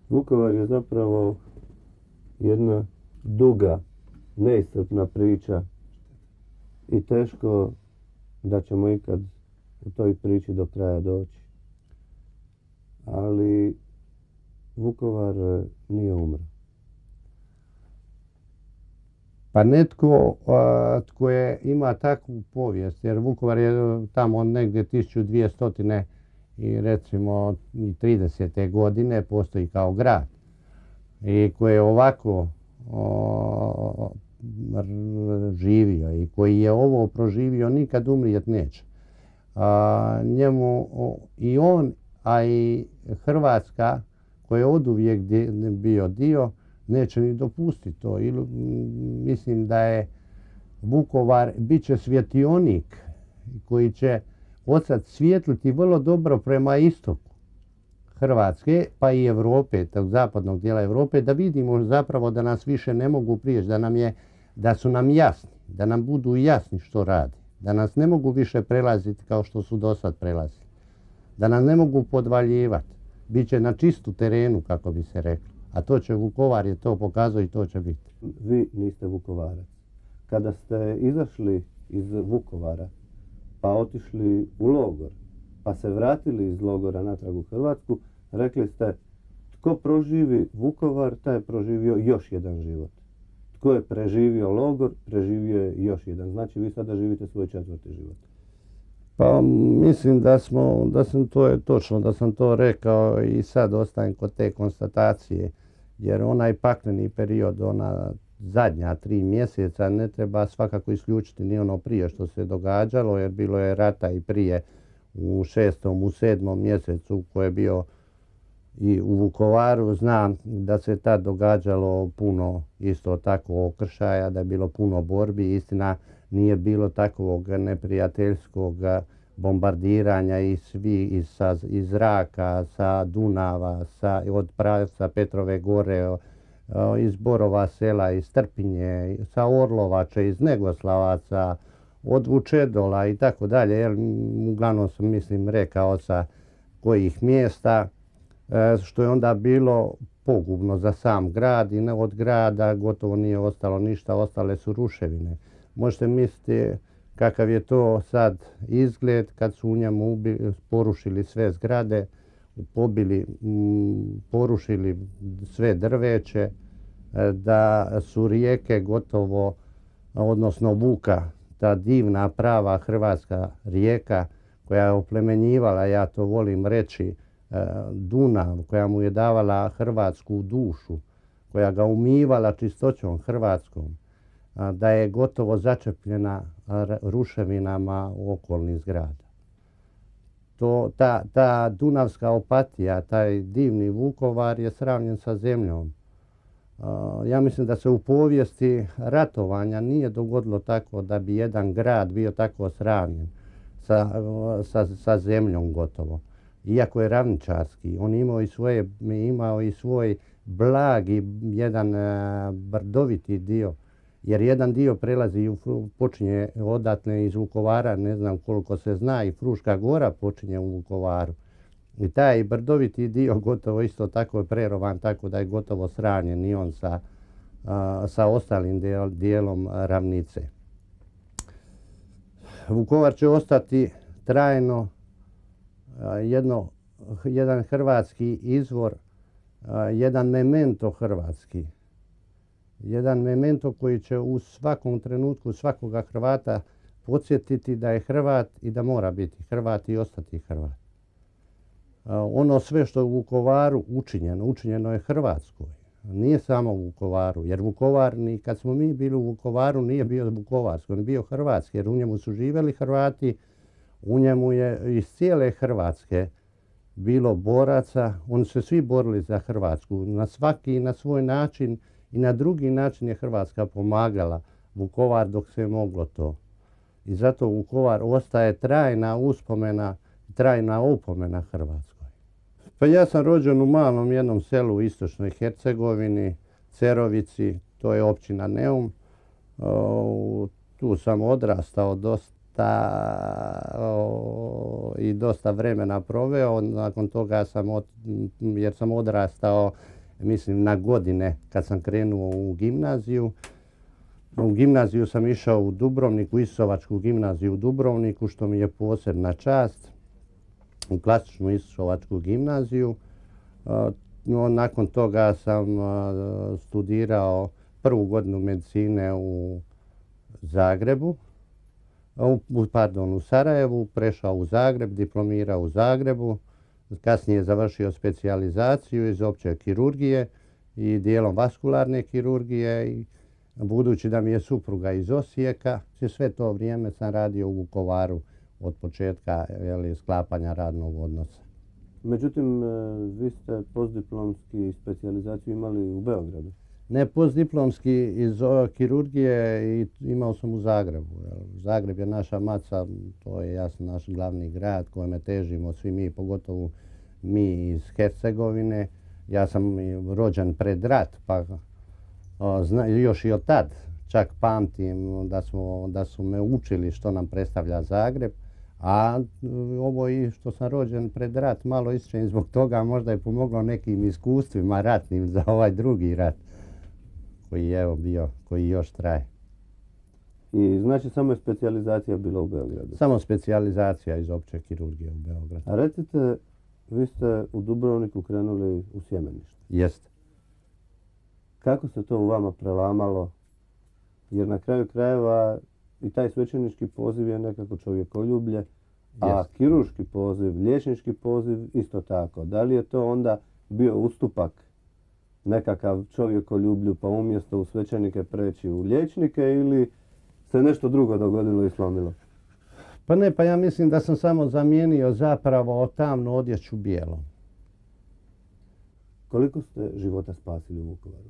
Vukovar je zapravo jedna duga, neiscrpna priča i teško da ćemo ikad u toj priči do kraja doći. Ali Vukovar nije umro. Pa netko tko ima takvu povijest, jer Vukovar je tamo negdje 1200 i recimo 30. godine postoji kao grad i koji je ovako živio i koji je ovo proživio nikad umrijet neće. Njemu i on, a i Hrvatska koja je oduvijek bio dio, neće ni dopustiti to. Mislim da je Vukovar bit će svjetionik koji će odsad svijetliti vrlo dobro prema istoku Hrvatske, pa i Europe, tog zapadnog dijela Europe, da vidimo zapravo da nas više ne mogu prijeći, da su nam jasni, da nam budu jasni što radi, da nas ne mogu više prelaziti kao što su dosad prelazili, da nas ne mogu podvaljivati, bit će na čistu terenu, kako bi se reklo. A to će Vukovar je to pokazao i to će biti. Vi niste Vukovarac. Kada ste izašli iz Vukovara, pa otišli u logor, pa se vratili iz logora natrag u Hrvatsku, rekli ste, tko proživi Vukovar, taj je proživio još jedan život. Tko je preživio logor, preživio je još jedan. Znači, vi sada živite svoj 4. život. Pa mislim to je točno, da sam to rekao i sad ostajem kod te konstatacije, jer onaj pakleni period, ona zadnja 3 mjeseca ne treba svakako isključiti ni ono prije što se događalo, jer bilo je rata i prije u 6., u 7. mjesecu koji je bio i u Vukovaru. Znam da se tad događalo puno isto tako okršaja, da je bilo puno borbi. Istina, nije bilo takvog neprijateljskog bombardiranja iz zraka, sa Dunava, od pravca Petrove gore, iz Borova sela, iz Trpinje, sa Orlovače, iz Negoslavaca, od Vučedola i tako dalje. Uglavnom sam rekao sa kojih mjesta, što je onda bilo pogubno za sam grad i od grada gotovo nije ostalo ništa, ostale su ruševine. Možete misliti kakav je to sad izgled kad su u njemu porušili sve zgrade, porušili sve drveće, da su rijeke gotovo, odnosno Vuka, ta divna prava hrvatska rijeka koja je oplemenjivala, ja to volim reći, Dunav, koja mu je davala hrvatsku dušu, koja ga umivala čistoćom hrvatskom, da je gotovo začepljena ruševinama okolnih zgrada. Ta dunavska opatija, taj divni Vukovar je sravnjen sa zemljom. Ja mislim da se u povijesti ratovanja nije dogodilo tako da bi jedan grad bio tako sravnjen sa zemljom gotovo. Iako je ravničarski, on imao i svoj blagi, jedan brdoviti dio, jer jedan dio prelazi, počinje odatle iz Vukovara, ne znam koliko se zna, i Fruška gora počinje u Vukovaru. I taj brdoviti dio gotovo isto tako je prerovan, tako da je gotovo sravnjen i on sa ostalim dijelom ravnice. Vukovar će ostati trajno jedan hrvatski izvor, jedan memento hrvatski. Jedan memento koji će u svakom trenutku svakoga Hrvata podsjetiti da je Hrvat i da mora biti Hrvat i ostati Hrvat. Ono sve što je u Vukovaru učinjeno je Hrvatskoj. Nije samo u Vukovaru, jer Vukovar, ni kad smo mi bili u Vukovaru, nije bio vukovarski, on je bio hrvatski, jer u njemu su živjeli Hrvati, u njemu je iz cijele Hrvatske bilo boraca, oni su se svi borili za Hrvatsku, na svaki i na svoj način i na drugi način je Hrvatska pomagala Vukovar dok se je moglo to. I zato Vukovar ostaje trajna uspomena, trajna opomena Hrvatskoj. Pa ja sam rođen u malom jednom selu u istočnoj Hercegovini, Cerovici, to je općina Neum. Tu sam odrastao dosta vremena proveo. Nakon toga jer sam odrastao mislim na godine kad sam krenuo u gimnaziju. U gimnaziju sam išao u Dubrovnik, u Isovačku gimnaziju u Dubrovniku, što mi je posebna čast, u klasičnu Isovačku gimnaziju. No, nakon toga sam studirao prvu godinu medicine u Zagrebu, u Sarajevu, prešao u Zagreb, diplomirao u Zagrebu, kasnije završio specijalizaciju iz opće kirurgije i dijelom vaskularne kirurgije. I budući da mi je supruga iz Osijeka, sve to vrijeme sam radio u Vukovaru od početka sklapanja radnog odnosa. Međutim, vi ste postdiplomski specijalizaciju imali u Beogradu. Ne, postdiplomski iz kirurgije i imao sam u Zagrebu. Zagreb je naša maca, to je jasno naš glavni grad kojeme težimo svi mi, pogotovo mi iz Hercegovine. Ja sam rođen pred rat, pa još i od tad čak pamtim da su me učili što nam predstavlja Zagreb. A ovo i što sam rođen pred rat, malo ističem zbog toga, možda je pomoglo nekim iskustvima ratnim za ovaj drugi rat koji je bio, koji još traje. I znači samo je specijalizacija bila u Beogradu? Samo specijalizacija iz opće kirurgije u Beogradu. A recite, vi ste u Dubrovniku krenuli u sjemenište. Jeste. Kako se to u vama prelamalo? Jer na kraju krajeva i taj svećenički poziv je nekako čovjekoljublje, a kirurški poziv, liječnički poziv isto tako. Da li je to onda bio ustupak nekakav čovjekoljublju pa umjesto u svećenike preći u liječnike ili se nešto drugo dogodilo i slomilo? Pa ne, pa ja mislim da sam samo zamijenio zapravo tamnu odjeću bijelom. Koliko ste života spasili u Vukovaru?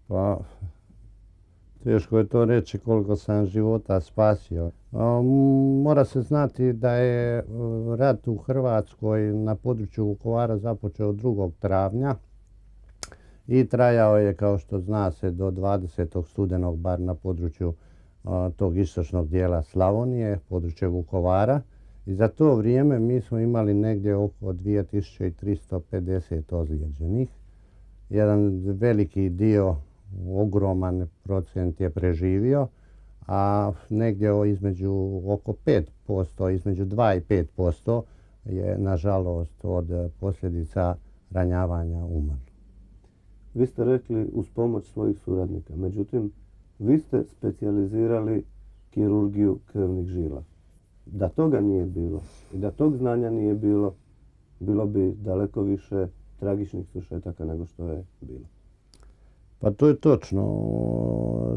Pa, teško je to reći koliko sam života spasio. Mora se znati da je rat u Hrvatskoj na području Vukovara započeo 2. travnja i trajao je, kao što zna se, do 20. studenog, bar na području tog istočnog dijela Slavonije, područje Vukovara. I za to vrijeme mi smo imali negdje oko 2350 ozlijeđenih. Jedan veliki dio, ogroman procent je preživio, a negdje između oko 5%, između 2 i 5% je nažalost od posljedica ranjavanja umrlo. Vi ste rekli uz pomoć svojih suradnika, međutim vi ste specijalizirali kirurgiju krvnih žila. Da toga nije bilo i da tog znanja nije bilo, bilo bi daleko više tragičnih svršetaka nego što je bilo. Pa to je točno.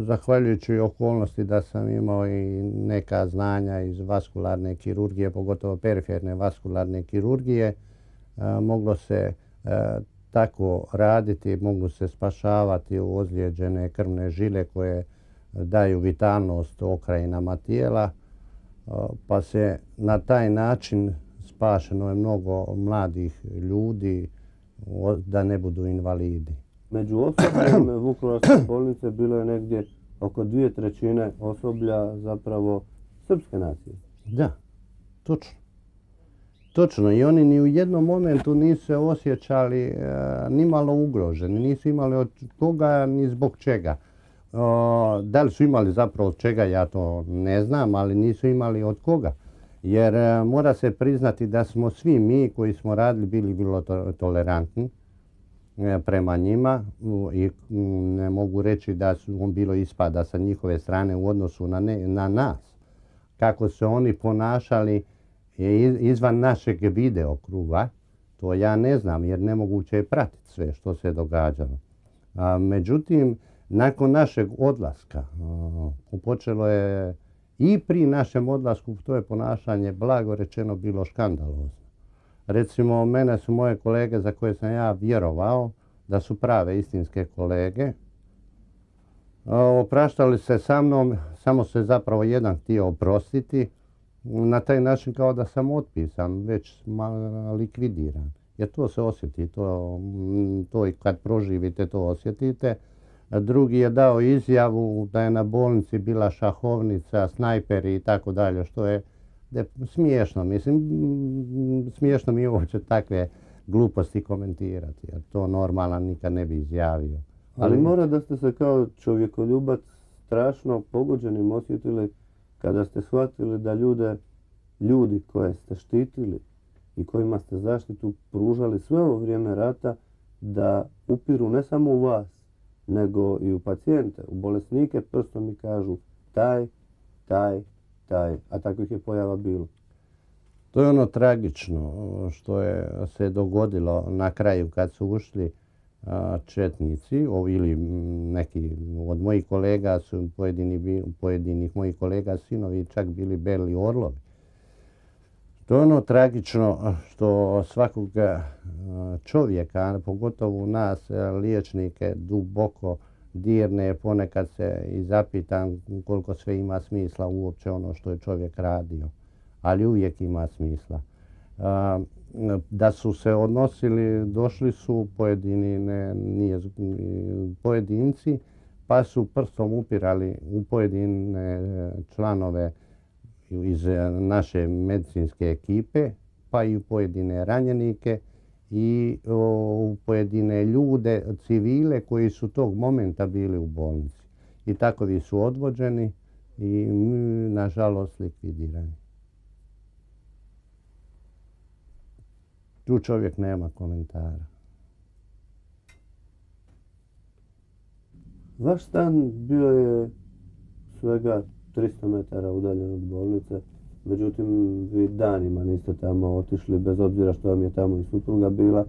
Zahvaljujući okolnosti da sam imao i neka znanja iz vaskularne kirurgije, pogotovo periferne vaskularne kirurgije, moglo se tako raditi, mogu se spašavati ozlijeđene krvne žile koje daju vitalnost okrajinama tijela, pa se na taj način spašeno je mnogo mladih ljudi da ne budu invalidi. Među osobljem Vukovarske bolnice bilo je negdje oko 2/3 osoblja zapravo srpske nacije. Da, točno. Točno, i oni ni u jednom momentu nisu se osjećali ni malo ugroženi, nisu imali od koga ni zbog čega. Da li su imali zapravo od čega, ja to ne znam, ali nisu imali od koga. Jer mora se priznati da smo svi mi koji smo radili bili vrlo tolerantni prema njima i ne mogu reći da su bilo ispada sa njihove strane u odnosu na nas. Kako se oni ponašali izvan našeg videokruga, to ja ne znam jer nemoguće je pratiti sve što se događalo. Međutim, nakon našeg odlaska, počelo je i pri našem odlasku, to je ponašanje blago rečeno bilo škandalozno. Recimo, mene su moje kolege za koje sam ja vjerovao da su prave istinske kolege, opraštali se sa mnom, samo se zapravo jedan htio oprostiti, na taj način kao da sam otpisan, već likvidiran. Jer to se osjeti, to i kad proživite to osjetite. Drugi je dao izjavu da je na bolnici bila šahovnica, snajperi i tako dalje, što je smiješno. Mislim, smiješno mi je uopće takve gluposti komentirati, jer to normalan nikad ne bi izjavio. Ali mora da ste se kao čovjekoljubac strašno pogođenim osjetili kada ste shvatili da ljudi koje ste štitili i kojima ste zaštitu pružali sve ovo vrijeme rata, da upiru ne samo u vas, nego i u pacijente, u bolesnike, prstom mi kažu taj, a takvih je pojava bilo. To je ono tragično što se dogodilo na kraju kad su ušli četnici, ili neki od mojih kolega su pojedinih mojih kolega sinovi čak bili beli orlovi. To je ono tragično što svakog čovjeka, pogotovo nas liječnike, duboko dirne, ponekad se i zapitam koliko sve ima smisla uopće ono što je čovjek radio, ali uvijek ima smisla. Da su se odnosili, došli su pojedinci, pa su prstom upirali u pojedine članove iz naše medicinske ekipe, pa i u pojedine ranjenike i u pojedine ljude, civile koji su tog momenta bili u bolnici. I takovi su odvođeni i nažalost likvidirani. Tu čovjek nema komentara. Vaš stan bio je svega 300 metara udaljen od bolnice, međutim vi danima niste tamo otišli, bez obzira što vam je tamo i supruga bila.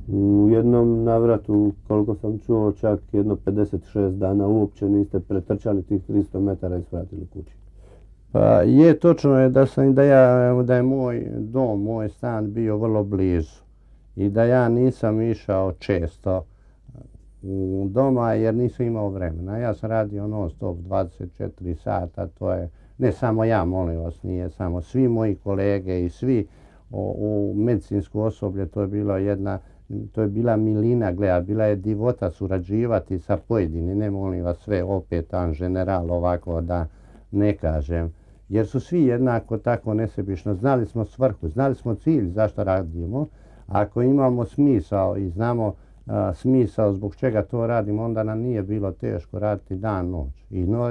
U jednom navratu, koliko sam čuo, čak jedno 56 dana uopće niste pretrčali tih 300 metara i svratili kući. Pa je, točno je da je moj dom, moj stan bio vrlo blizu i da ja nisam išao često u doma jer nisam imao vremena. Ja sam radio non stop 24 sata, to je, ne samo ja, molim vas, nije samo, svi moji kolege i svi u medicinsku osoblje, to je bila milina, gleda, bila je divota surađivati sa pojedinim, ne molim vas sve opet an general ovako da ne kažem, jer su svi jednako tako nesebično, znali smo svrhu, znali smo cilj zašto radimo. Ako imamo smisao i znamo smisao zbog čega to radimo, onda nam nije bilo teško raditi dan, noć.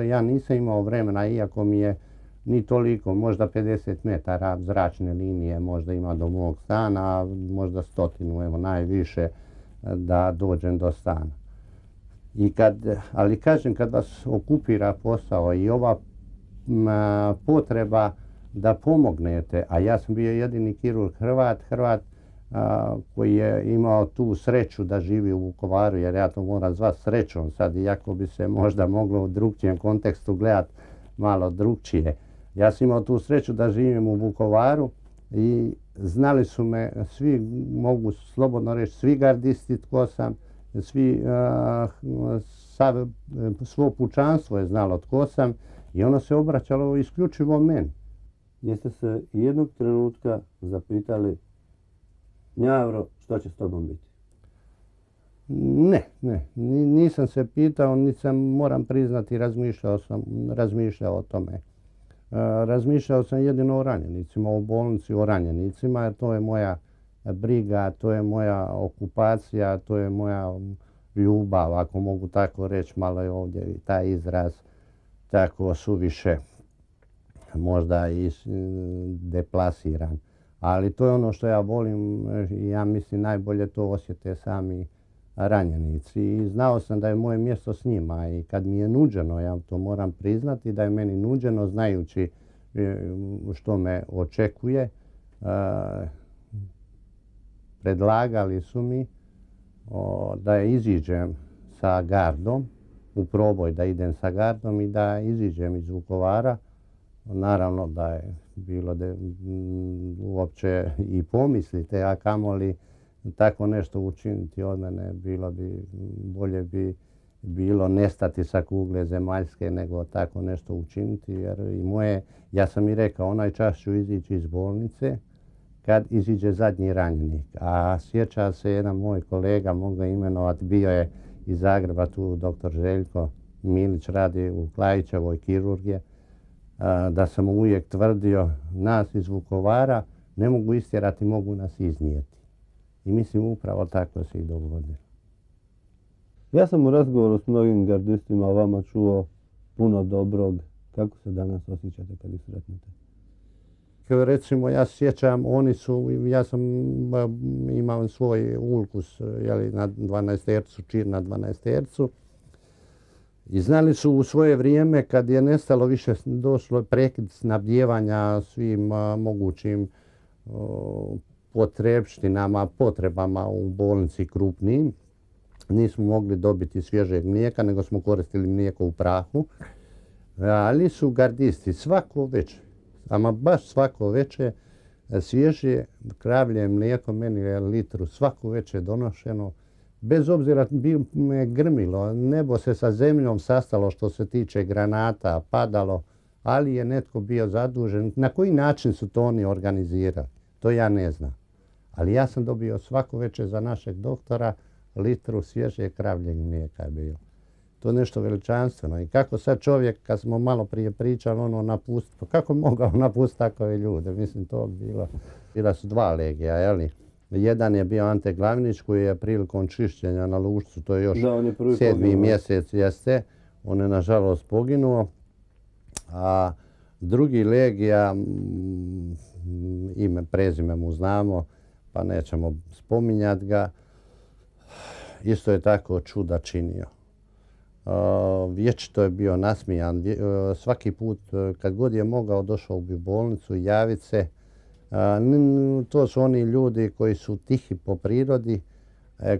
Ja nisam imao vremena, iako mi je ni toliko, možda 50 metara zračne linije možda ima do mog stana, možda 100, evo najviše, da dođem do stana. Ali kažem, kad vas okupira posao i ova potreba da pomognete, a ja sam bio jedini kirurg Hrvat koji je imao tu sreću da živi u Vukovaru, jer ja to moram zvati srećom sad, iako bi se možda moglo u drugčijem kontekstu gledati malo drugčije. Ja sam imao tu sreću da živim u Vukovaru i znali su me svi, mogu slobodno reći, svi gardisti tko sam, svo pučanstvo je znalo tko sam i ono se obraćalo isključivo meni. Jeste se jednog trenutka zapitali, Njavro, što će s tobom biti? Ne, nisam se pitao, nisam, moram priznati, razmišljao o tome. Razmišljao sam jedino o ranjenicima, o bolnici, o ranjenicima, jer to je moja briga, to je moja okupacija, to je moja ljubav, ako mogu tako reći, malo je ovdje taj izraz tako suviše možda i deplasiran. Ali to je ono što ja volim i ja mislim najbolje to osjete sami ranjenici. I znao sam da je moje mjesto s njima i kad mi je nuđeno, ja to moram priznati, da je meni nuđeno znajući što me očekuje, predlagali su mi da iziđem sa gardom, u proboj da idem sa gardom i da iziđem iz Vukovara. Naravno da je bilo uopće i pomislite, a kamoli tako nešto učiniti od mene, bolje bi bilo nestati sa kugle zemaljske nego tako nešto učiniti, jer ja sam i rekao, onaj čas ću izići iz bolnice kad iziđe zadnji ranjenik. A sjeća se jedan moj kolega, mogu ga imenovati, bio je iz Zagreba, tu dr. Željko Milić, radi u Klajićevoj kirurgije, da sam uvijek tvrdio, nas iz Vukovara ne mogu istjerati, mogu nas iznijeti. I mislim upravo tako se i dogodilo. Ja sam u razgovoru s mnogim gardistima o vama čuo puno dobrog. Kako se danas osjećate kad ih sretnete? Recimo, ja se sjećam, ja sam imao svoj ulkus na 12 čir na 12 i znali su u svoje vrijeme kad je nestalo više, došlo prekid snabdijevanja svim mogućim potrebama u bolnici krupnim. Nismo mogli dobiti svježeg mlijeka, nego smo koristili mlijeko u prahu. Ali su gardisti svako večer, ama baš svako večer, svježe kravlje mlijeko, meni je litru svako večer donošeno. Bez obzira bi me grmilo, nebo se sa zemljom sastalo što se tiče granata, padalo, ali je netko bio zadužen. Na koji način su to oni organizirali, to ja ne znam. Ali ja sam dobio svako večer za našeg doktora litru svježe kravljeg mlijeka je bilo. To je nešto veličanstveno. I kako sad čovjek, kad smo malo prije pričali, napustiti, kako mogao napustiti takove ljude? Mislim, to bilo. Bila su dva legija, jeli? Jedan je bio Ante Glavinić koji je prilikom čišćenja na Lušcu, to je još 7. mjesec jeste, on je nažalost poginuo. A drugi legija, ime, prezime mu znamo, pa nećemo spominjati ga, isto je tako čuda činio. Vječito je bio nasmijan. Svaki put kad god je mogao došao bi u bolnicu javiti se. To su oni ljudi koji su tihi po prirodi,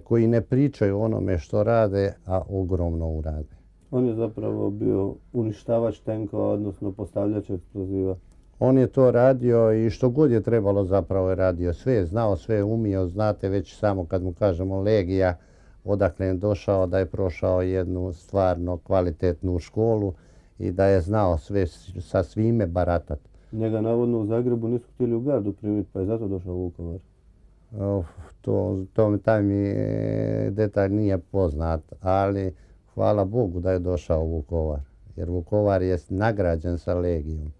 koji ne pričaju onome što rade, a ogromno urade. On je zapravo bio uništavač tenkova, odnosno postavljač eksploziva. On je to radio i što god je trebalo zapravo je radio. Sve je znao, sve je umio. Znate već samo kad mu kažemo legija, odakle je došao, da je prošao jednu stvarno kvalitetnu školu i da je znao sve sa svime baratati. Njega navodno u Zagrebu nisu htjeli u gardu primiti, pa je zato došao u Vukovar. Taj mi detalj nije poznat, ali hvala Bogu da je došao u Vukovar. Jer Vukovar je nagrađen sa legijom.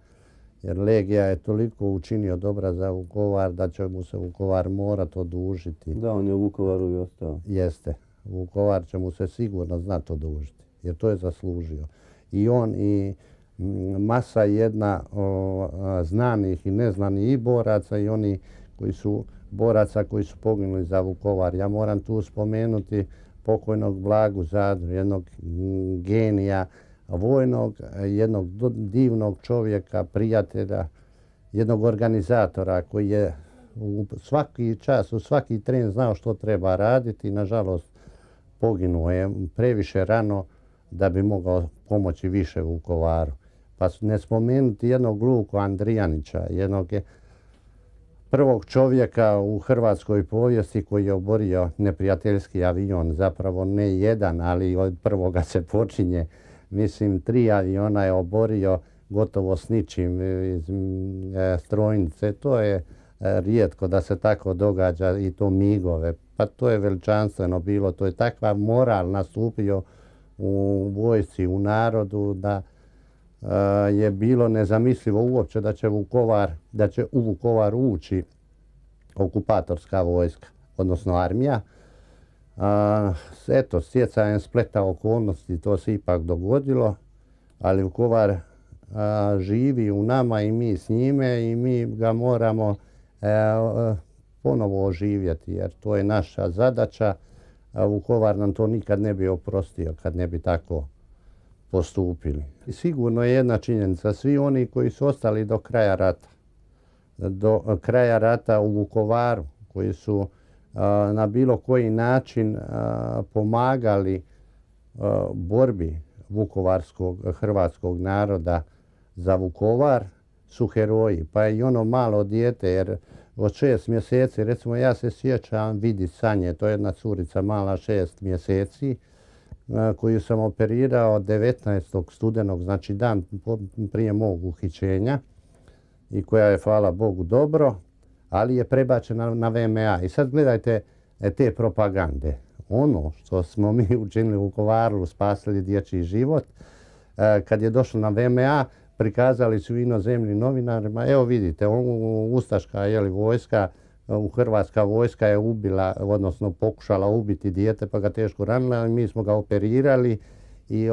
Jer legija je toliko učinio dobra za Vukovar da će mu se Vukovar morati odužiti. Da, on je u Vukovaru i ostao. Jeste. Vukovar će mu se sigurno znati odužiti, jer to je zaslužio. I on i masa jedna znanih i neznanih i boraca i oni koji su boraca koji su poginuli za Vukovar. Ja moram tu spomenuti pokojnog Blagu Zadru, jednog genija vojnog, jednog divnog čovjeka, prijatelja, jednog organizatora koji je u svaki čas, u svaki tren znao što treba raditi i nažalost poginuo je previše rano da bi mogao pomoći više Vukovaru. Pa ne spomenuti jednog Luku Andrijanića, jednog prvog čovjeka u hrvatskoj povijesti koji je oborio neprijateljski avion. Zapravo ne jedan, ali od prvoga se počinje. Mislim, 3 aviona je oborio gotovo s ničim iz strojnice. To je rijetko da se tako događa i to migove. Pa to je veličanstveno bilo. To je takva moral nastupio u vojsci, u narodu da je bilo nezamislivo uopće da će u Vukovar ući okupatorska vojska, odnosno armija. Eto, stjecajem spleta okolnosti to se ipak dogodilo, ali Vukovar živi u nama i mi s njime i mi ga moramo ponovo oživjeti jer to je naša zadaća. Vukovar nam to nikad ne bi oprostio kad ne bi tako postupili. I sigurno je jedna činjenica, svi oni koji su ostali do kraja rata u Vukovaru, koji su na bilo koji način pomagali borbi vukovarskog hrvatskog naroda za Vukovar, su heroji. Pa i ono malo dijete, jer od 6 mjeseci, recimo ja se sjećam Vidi Sanje, to je jedna curica mala 6 mjeseci, koju sam operirao 19. studenog, znači dan prije mog uhićenja i koja je, hvala Bogu, dobro, ali je prebačena na VMA. I sad gledajte te propagande. Ono što smo mi učinili u Vukovaru, spasili dječji život, kad je došlo na VMA, prikazali su inozemnim novinarima, evo vidite, ustaška vojska Hrvatska vojska je ubila, odnosno pokušala ubiti dijete pa ga teško ranila, ali mi smo ga operirali i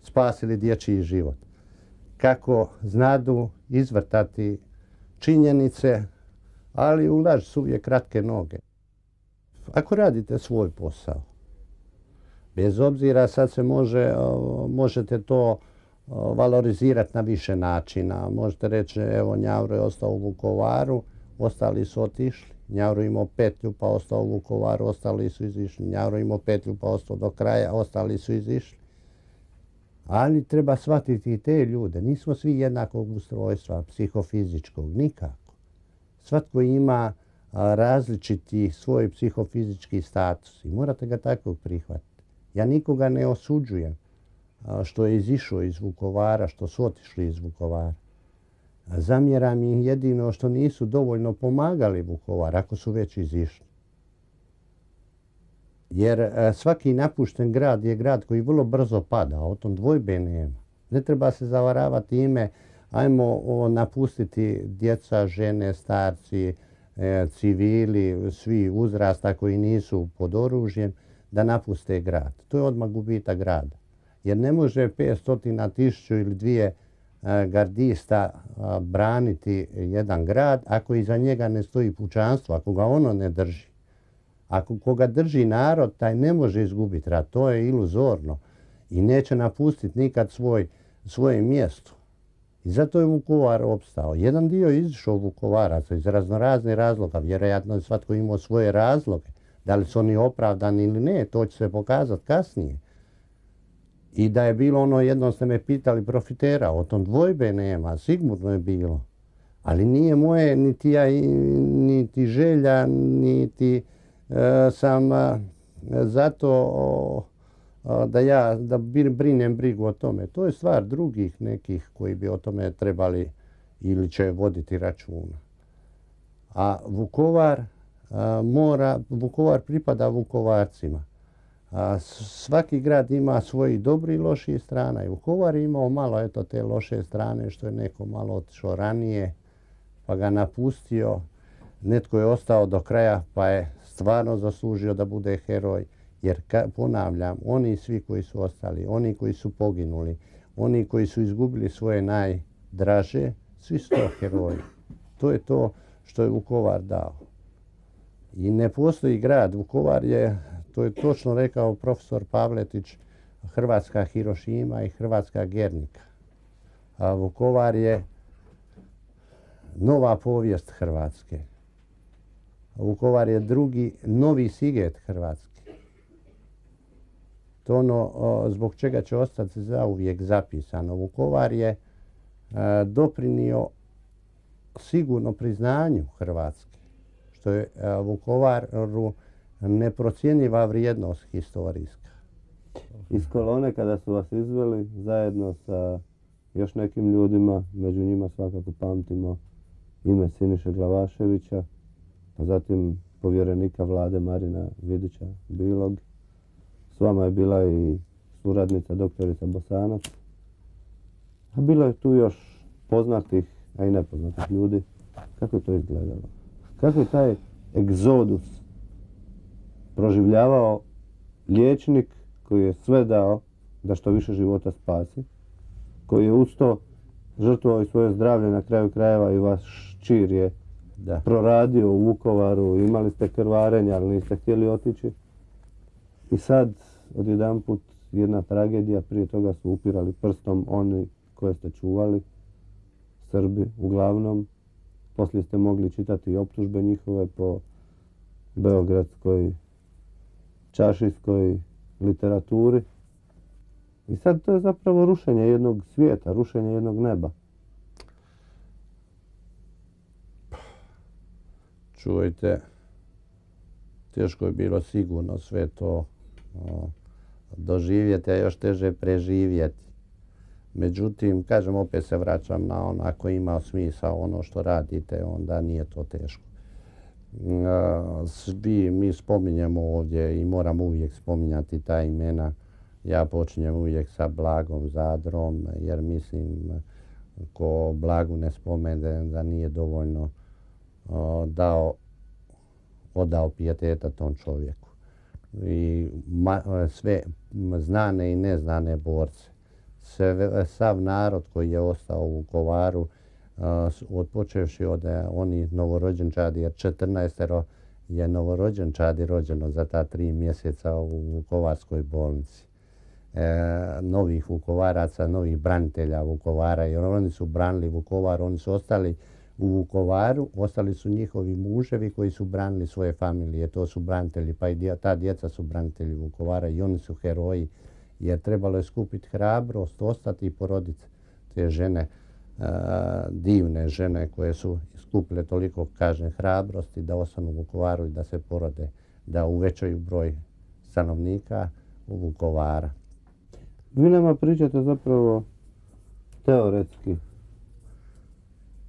spasili dječji život. Kako znadu izvrtati činjenice, ali u laž su uvijek kratke noge. Ako radite svoj posao, bez obzira sad se možete to valorizirati na više načina. Možete reći, evo Njavro je ostao u Vukovaru, ostali su otišli. Njavro imao petlju pa ostao u Vukovaru, ostali su izišli. Njavro imao petlju pa ostao do kraja, ostali su izišli. Ali treba shvatiti i te ljude. Nismo svi jednakog ustrojstva, psihofizičkog, nikako. Svatko ima različiti svoj psihofizički status i morate ga takvog prihvatiti. Ja nikoga ne osuđujem što je izišao iz Vukovara, što su otišli iz Vukovara. Zamjeram ih jedino što nisu dovoljno pomagali Vukovar ako su već izišli. Jer svaki napušten grad je grad koji vrlo brzo pada, o tom dvojbe nema. Ne treba se zavaravati ime, ajmo napustiti djeca, žene, starci, civili, svi uzrasta koji nisu pod oružjem, da napuste grad. To je odmah gubitak grada. Jer ne može 500, 1000 ili 2 gardista braniti jedan grad ako iza njega ne stoji pučanstvo, ako ga ono ne drži. Ako koga drži narod, taj ne može izgubiti rat. To je iluzorno i neće napustiti nikad svoje mjesto. I zato je Vukovar opstao. Jedan dio je izišao Vukovaraca iz raznoraznih razloga. Vjerojatno je svatko imao svoje razloge. Da li su oni opravdani ili ne, to će se pokazati kasnije. I da je bilo ono, jednom ste me pitali, profitera, o tom dvojbe nema, sigurno je bilo. Ali nije moje niti želja, niti sam zato da brinem brigu o tome. To je stvar drugih nekih koji bi o tome trebali ili će voditi računa. A Vukovar pripada Vukovarcima. Svaki grad ima svoji dobri i loši strana. I Vukovar je imao malo te loše strane što je neko malo otišao ranije pa ga napustio. Netko je ostao do kraja pa je stvarno zaslužio da bude heroj. Jer ponavljam, oni svi koji su ostali, oni koji su poginuli, oni koji su izgubili svoje najdraže, svi su to heroji. To je to što je Vukovar dao. I ne postoji grad. Vukovar je, to je točno rekao profesor Pavletić, hrvatska Hirošima i hrvatska Gernika. A Vukovar je nova povijest Hrvatske. Vukovar je drugi, novi Siget Hrvatske. To ono zbog čega će ostati zauvijek zapisano. Vukovar je doprinio sigurno priznanju Hrvatske, što je Vukovaru neprocjenjiva vrijednost historijska. Iz kolone kada su vas izveli zajedno sa još nekim ljudima, među njima svakako pamtimo ime Siniše Glavaševića, a zatim povjerenika vlade Marina Vidića Bilog. S vama je bila i suradnica doktorica Bosanac. A bilo je tu još poznatih, a i nepoznatih ljudi. Kako je to izgledalo? Kako je taj egzodus proživljavao liječnik koji je sve dao da što više života spasi, koji je uz to žrtvovao i svoje zdravlje, na kraju krajeva i vaš čir je proradio u Vukovaru, imali ste krvarenja, ali niste htjeli otići. I sad, odjedanput, jedna tragedija, prije toga su upirali prstom oni koje ste čuvali, Srbi uglavnom. Poslije ste mogli čitati i optužbe njihove po beogradskoj čašijskoj literaturi. I sad to je zapravo rušenje jednog svijeta, rušenje jednog neba. Čujte, teško je bilo sigurno sve to doživjeti, a još teže preživjeti. Međutim, kažem, opet se vraćam na ono, ako ima smisao ono što radite, onda nije to teško. Svi mi spominjemo ovdje i moramo uvijek spominjati ta imena. Ja počinjem uvijek sa Blagom Zadrom, jer mislim, ko Blagu ne spomene da nije dovoljno dao odao pijeteta tom čovjeku. I sve znane i neznane borce. Sav narod koji je ostao u Vukovaru, počevši od onih novorođenčadi, jer 14 je novorođenčadi rođeno za ta 3 mjeseca u Vukovarskoj bolnici. Novih Vukovaraca, novih branitelja Vukovara, jer oni su branili Vukovar, oni su ostali u Vukovaru, ostali su njihovi muževi koji su branili svoje familije, to su branitelji, pa i ta djeca su branitelji Vukovara i oni su heroji, jer trebalo je skupiti hrabrost, ostati i poroditi te žene, divne žene koje su skupile toliko, kažem, hrabrosti da ostanu u Vukovaru i da se porode, da uvećaju broj stanovnika u Vukovara. Vi nama pričate zapravo teoretski.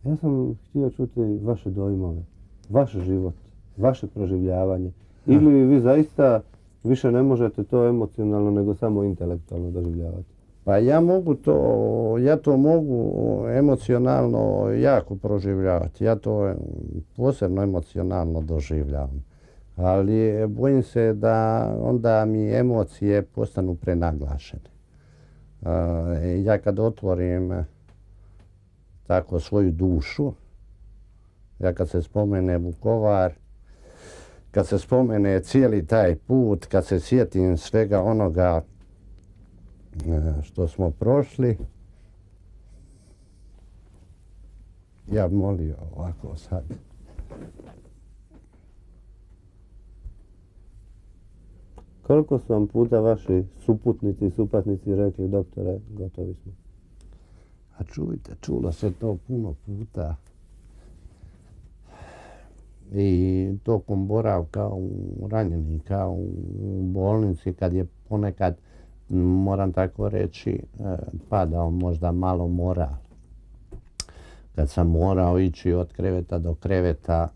Ja sam htio čuti vaše dojmove, vaš život, vaše proživljavanje. Ili vi zaista više ne možete to emocionalno nego samo intelektualno doživljavati? Pa ja to mogu emocionalno jako proživljavati. Ja to posebno emocionalno doživljavam. Ali bojim se da onda mi emocije postanu prenaglašene. Ja kad otvorim tako svoju dušu, ja kad se spomene Vukovar, kad se spomene cijeli taj put, kad se sjetim svega onoga što smo prošli, ja bih molio ovako sad. Koliko su vam puta vaši suputnici i supatnici rekli, doktore, gotovi smo? A čujte, čulo se to puno puta. I tokom boravka u ranjenika u bolnici, kad je ponekad, moram tako reći, padao možda malo moral. Kad sam morao ići od kreveta do kreveta,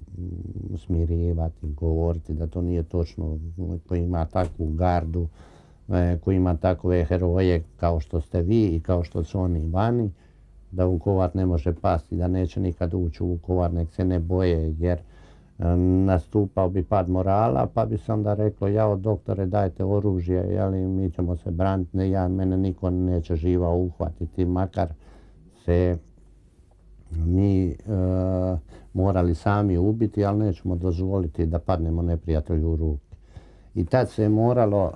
smirivati, govoriti da to nije točno, koji ima takvu gardu, koji ima takve heroje kao što ste vi i kao što su oni vani, da Vukovar ne može pasti, da neće nikad ući u Vukovar, nek se ne boje, jer nastupao bi pad morala, pa bi se onda reklo, jao doktore, dajte oružje, jeli, mi ćemo se braniti, mene niko neće živa uhvatiti, makar se mi morali sami ubiti, ali nećemo dozvoliti da padnemo neprijatelju u ruke. I tad se je moralo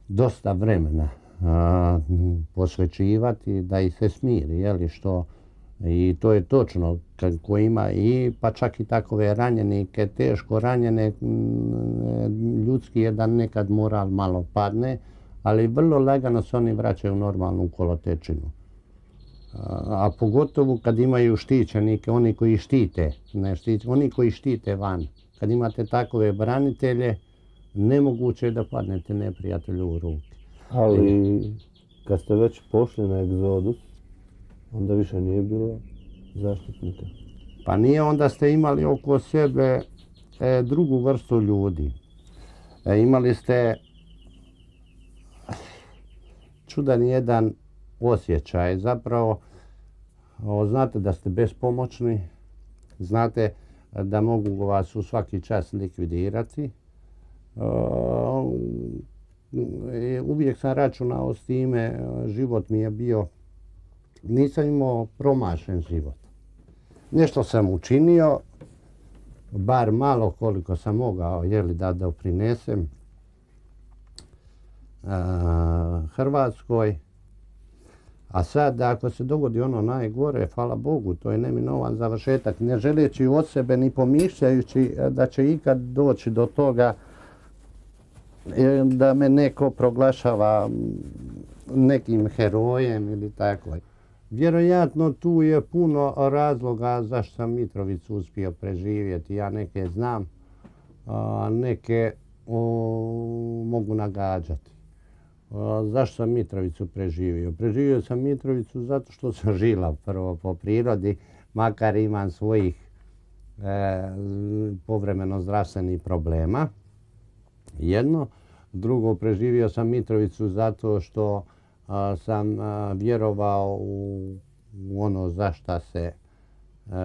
dosta vremena posvećivati da ih se smiri, jeli, što i to je točno, ko ima i pa čak i takove ranjenike, teško ranjene, ljudski je da nekad moral malo padne, ali vrlo lagano se oni vraćaju u normalnu kolotečinu. A pogotovo kad imaju štićenike, oni koji štite, oni koji štite van. Kad imate takove branitelje, nemoguće je da padnete neprijatelju u ruke. Ali kad ste već pošli na egzodus, onda više nije bilo zaštitnika. Pa nije, onda ste imali oko sebe drugu vrstu ljudi. Imali ste čudan jedan osjećaj. Zapravo, znate da ste bespomoćni, znate da mogu vas u svaki čas likvidirati. Uvijek sam računao s time, život mi je bio, nisam imao promašen život. Nešto sam učinio, bar malo koliko sam mogao, da doprinesem Hrvatskoj. A sad, ako se dogodi ono najgore, hvala Bogu, to je neminovan završetak, ne želeći od sebe ni pomišljajući da će ikad doći do toga da me neko proglašava nekim herojem ili tako. Vjerojatno tu je puno razloga zašto sam Mitrovicu uspio preživjeti. Ja neke znam, a neke mogu nagađati. Zašto sam Mitrovicu preživio? Preživio sam Mitrovicu zato što sam žilav prvo po prirodi, makar imam svojih povremeno zdravstvenih problema. Jedno. Drugo, preživio sam Mitrovicu zato što sam vjerovao u ono za šta se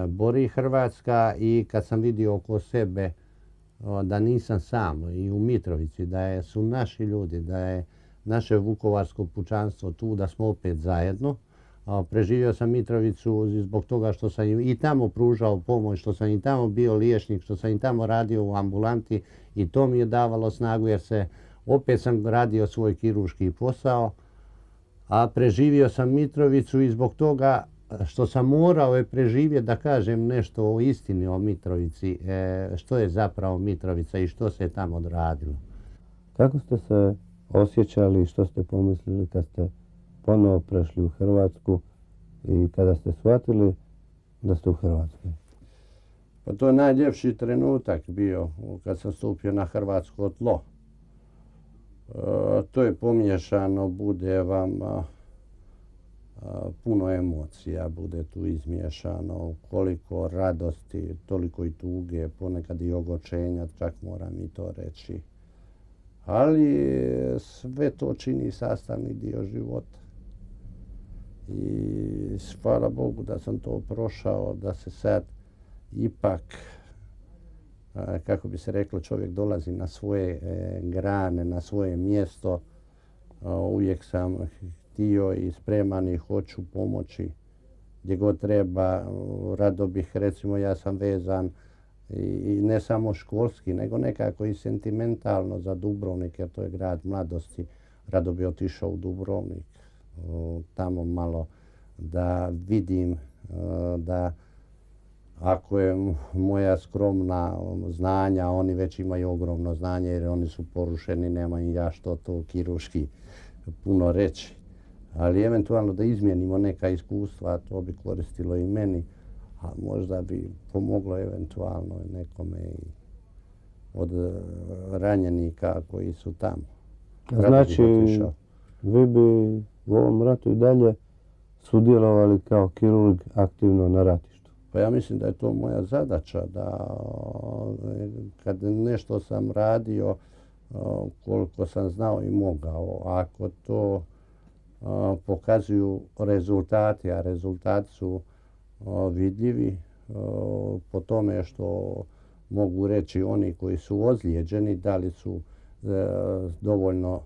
bori Hrvatska i kad sam vidio oko sebe da nisam sam i u Mitrovici, da su naši ljudi, da je naše vukovarsko pučanstvo tu, da smo opet zajedno. Preživio sam Mitrovicu zbog toga što sam i tamo pružao pomoć, što sam i tamo bio liječnik, što sam i tamo radio u ambulanti i to mi je davalo snagu jer opet sam radio svoj kirurški posao, a preživio sam Mitrovicu i zbog toga što sam morao je preživjeti da kažem nešto o istini o Mitrovici, što je zapravo Mitrovica i što se je tamo odradilo. Kako ste se osjećali i što ste pomislili kad ste ponovo prešli u Hrvatsku i kada ste shvatili da ste u Hrvatskoj? Pa to je najljepši trenutak bio kad sam stupio na hrvatsko tlo. To je pomiješano, bude vam puno emocija, bude tu izmiješano, koliko radosti, toliko i tuge, ponekad i ogorčenja, čak moram i to reći. Ali sve to čini sastavni dio života. I hvala Bogu da sam to prošao, da se sad ipak, kako bi se reklo, čovjek dolazi na svoje grane, na svoje mjesto. Uvijek sam htio i spreman i hoću pomoći gdje god treba. Rado bih, recimo, ja sam vezan i ne samo školski, nego nekako i sentimentalno za Dubrovnik, jer to je grad mladosti. Rado bi otišao u Dubrovnik, tamo malo da vidim da ako je moja skromna znanja, oni već imaju ogromno znanje jer oni su porušeni, nemam ja što to kirurški puno reći. Ali eventualno da izmijenimo neka iskustva, to bi koristilo i meni, a možda bi pomoglo eventualno nekome i od ranjenika koji su tamo. Znači, vi bi u ovom ratu i dalje sudjelovali kao kirurg aktivno na ratištu? Pa ja mislim da je to moja zadaća, da kad nešto sam radio, koliko sam znao i mogao, ako to pokazuju rezultati, a rezultati su vidljivi po tome što mogu reći oni koji su ozlijeđeni, da li su dovoljno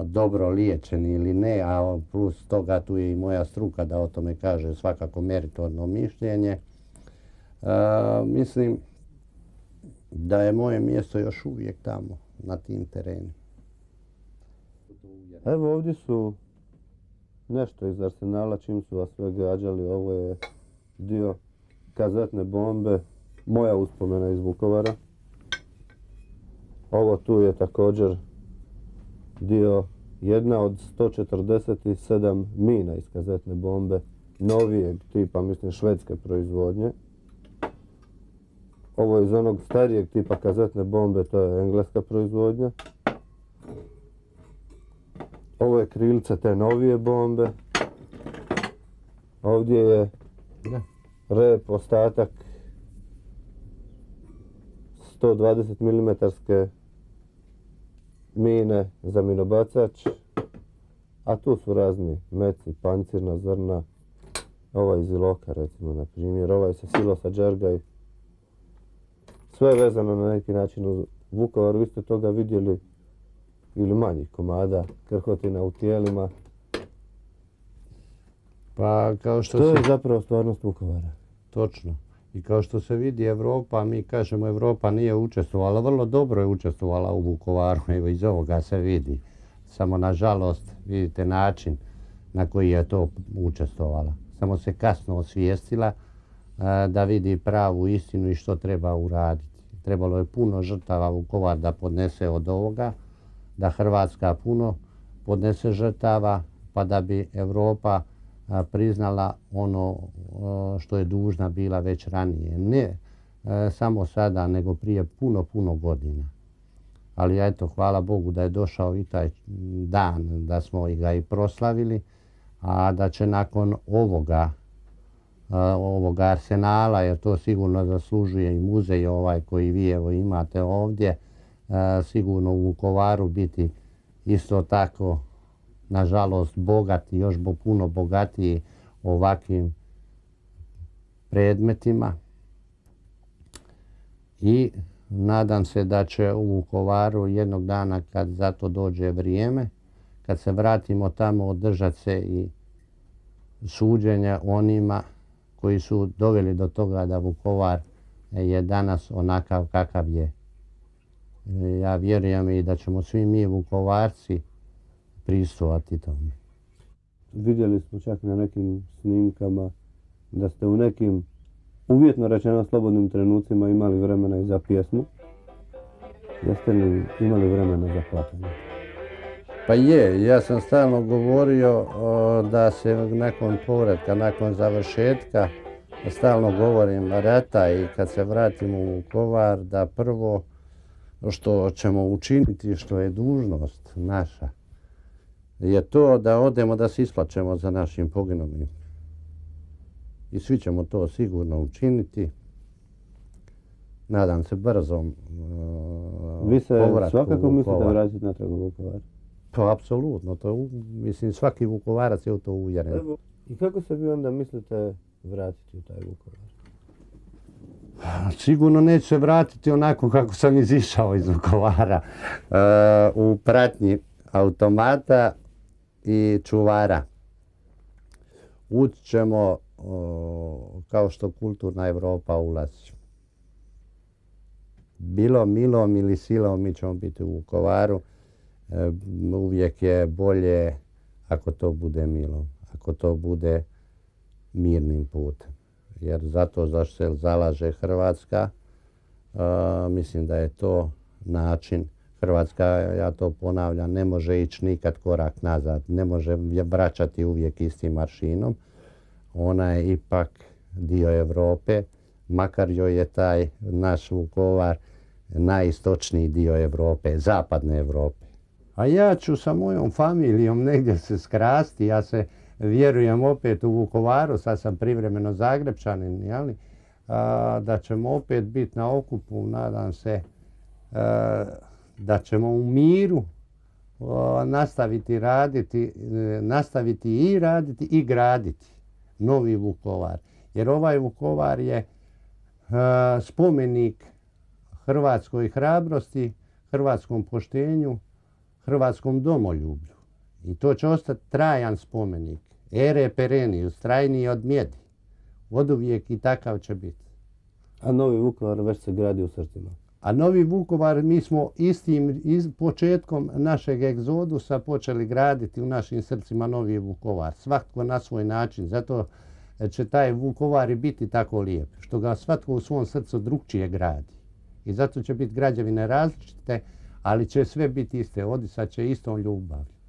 dobro liječeni ili ne, a plus toga tu je i moja struka da o tome kaže svakako meritorno mišljenje. Mislim da je moje mjesto još uvijek tamo, na tim terenima. Evo ovdje su nešto iz arsenala, čim su vas sve gađali. Ovo je dio kazetne bombe, moja uspomena iz Vukovara. Ovo tu je također dio, jedna od 147 mina iz kazetne bombe, novijeg tipa, mislim švedske proizvodnje. Ovo je iz onog starijeg tipa kazetne bombe, to je engleska proizvodnja. Ovo je krilce te novije bombe. Ovdje je rep, ostatak 120 mm mine za minobacač, a tu su razni meci, pancirna zrna, ovaj iz Iloka recimo, na primjer, ovaj sa silosa Đergaj. Sve je vezano na neki način u Vukovar. Vi ste toga vidjeli ili manjih komada, krhotina u tijelima. Pa kao što to je zapravo stvarnost Vukovara. Točno. I kao što se vidi Europa, mi kažemo Europa nije učestvovala, vrlo dobro je učestvovala u Vukovaru, evo iz ovoga se vidi. Samo nažalost vidite način na koji je to učestvovala. Samo se kasno osvijestila da vidi pravu istinu i što treba uraditi. Trebalo je puno žrtava Vukovar da podnese od ovoga, da Hrvatska puno podnese žrtava, pa da bi Europa priznala ono što je dužna bila već ranije. Ne samo sada, nego prije puno godina. Ali eto, hvala Bogu da je došao i taj dan, da smo ga i proslavili, a da će nakon ovoga arsenala, jer to sigurno zaslužuje i muzej ovaj koji vi evo imate ovdje, sigurno u Vukovaru biti isto tako, nažalost, bogati, još puno bogatiji ovakvim predmetima i nadam se da će u Vukovaru jednog dana, kad za to dođe vrijeme, kad se vratimo tamo, održat se i suđenja onima koji su doveli do toga da Vukovar je danas onakav kakav je. Ja vjerujem i da ćemo svi mi Vukovarci pristojati tome. Vidjeli smo čak na nekim snimkama da ste u nekim, uvjetno rečeno, slobodnim trenucima imali vremena i za pjesmu. Jeste li imali vremena za plakanje? Pa je, ja sam stalno govorio da se nakon povratka, nakon završetka, stalno govorim rata i kad se vratimo u Vukovar, da prvo što ćemo učiniti, što je dužnost naša, je to da odemo da se isplaćemo za našim poginulim. I svi ćemo to sigurno učiniti. Nadam se brzom povratku. Vi se svakako mislite vratiti natrag u Vukovar? Pa apsolutno, mislim svaki Vukovarac je u to uvjeren. I kako se vi onda mislite vratiti u taj Vukovar? Sigurno neću se vratiti onako kako sam izišao iz Vukovara, u pratnji automata i čuvara. Ući ćemo kao što kulturna Evropa ulazi. Bilo milom ili silom mi ćemo biti u Vukovaru. Uvijek je bolje ako to bude milom, ako to bude mirnim putem. Jer zato zašto se zalaže Hrvatska, mislim da je to način. Hrvatska, ja to ponavljam, ne može ići nikad korak nazad, ne može vraćati uvijek istim maršinom. Ona je ipak dio Europe, makar joj je taj naš Vukovar najistočniji dio Europe, zapadne Europe. A ja ću sa mojom familijom negdje se skrasti, ja se vjerujem opet u Vukovaru, sad sam privremeno Zagrepčanin, jeli? Da ćemo opet biti na okupu, nadam se da ćemo u miru nastaviti i raditi i graditi novi Vukovar. Jer ovaj Vukovar je spomenik hrvatskoj hrabrosti, hrvatskom poštenju, hrvatskom domoljublju. I to će ostati trajan spomenik. Ere perenius, trajniji od mjedi. Oduvijek i takav će biti. A novi Vukovar već se gradi u srcima? A novi Vukovar mi smo istim početkom našeg egzodusa počeli graditi u našim srcima novi Vukovar. Svatko na svoj način. Zato će taj Vukovar i biti tako lijep. Što ga svatko u svom srcu drukčije gradi. I zato će biti građevine različite, ali će sve biti iste. Odisat će istom ljubavlju.